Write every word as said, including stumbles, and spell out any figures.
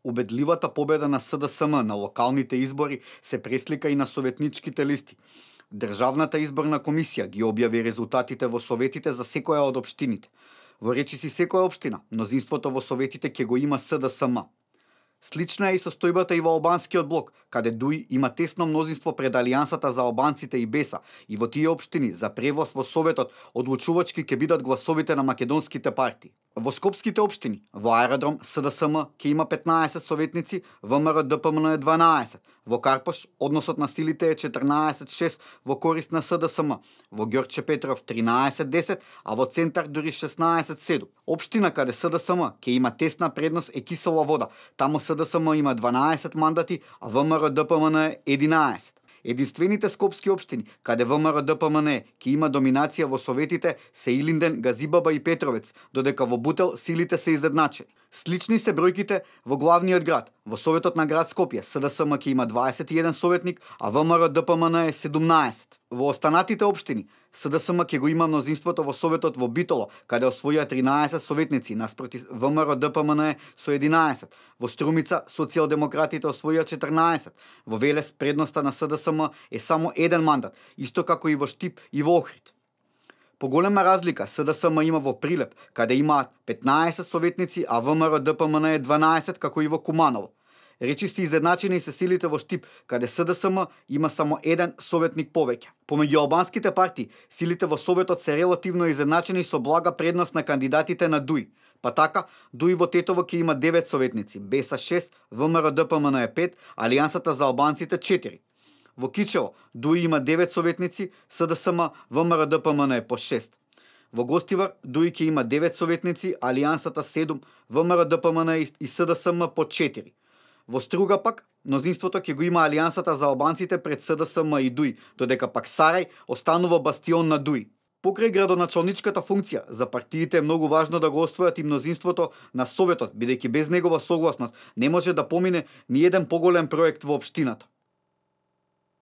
Убедливата победа на С Д С М на локалните избори се преслика и на советничките листи. Државната изборна комисија ги објави резултатите во советите за секоја од општините. Во речиси секоја општина, мнозинството во советите ќе го има С Д С М. Слична е и состојбата и во албанскиот блок, каде ДУИ има тесно мнозинство пред Алијансата за албанците и Беса, и во тие општини за превоз во советот одлучувачки ќе бидат гласовите на македонските партии. Во скопските општини, во Аеродром С Д С М ќе има петнаесет советници, В М Р Д П М Н е дванаесет, во Карпош односот на силите е четрнаесет шест во корист на С Д С М, во Ѓорче Петров тринаесет десет, а во Центар дури шеснаесет седум. Општина каде С Д С М ќе има тесна предност е Кисела Вода, таму С Д С М има дванаесет мандати, а В М Р Д П М Н е единаесет. Единствените скопски општини, каде В М Р Д П М Н е ќе има доминација во советите, се Илинден, Газибаба и Петровец, додека во Бутел силите се изедначени. Слични се бројките во главниот град. Во советот на град Скопје С Д С М ќе има дваесет и еден советник, а В М Р Д П М Н е седумнаесет. Во останатите општини С Д С М ќе го има мнозинството во советот во Битоло, каде освоија тринаесет советници наспроти В М Р Д П М Н е со единаесет. Во Струмица социјалдемократите освоија четрнаесет. Во Велес предноста на С Д С М е само еден мандат, исто како и во Штип и во Охрид. Поголема разлика С Д С М има во Прилеп, каде имаат петнаесет советници, а В М Р Д П М Н е дванаесет, како и во Куманово. Речисти изедначени се силите во Штип, каде С Д С М има само еден советник повеќе. Помеѓу албанските партии, силите во советот се релативно изедначени со блага предност на кандидатите на ДУИ. Па така, ДУИ во Тетово ќе има девет советници, Беса шест, В М Р Д П М Н е пет, Алијансата за албанците четири. Во Кичево, ДУИ има девет советници, С Д С М, В М Р Д П М Н е по шест. Во Гостивар, ДУИ ќе има девет советници, Алијансата седум, В М Р Д П М Н и С Д С М по четири. Во Струга пак, мнозинството ќе го има Алијансата за албанците пред С Д С М и ДУИ, додека пак Сарај останува бастион на ДУИ. Покрај градоначалничката функција, за партиите е многу важно да го освојат и мнозинството на Советот, бидејќи без негова согласност не може да помине ни еден поголем проект во општината.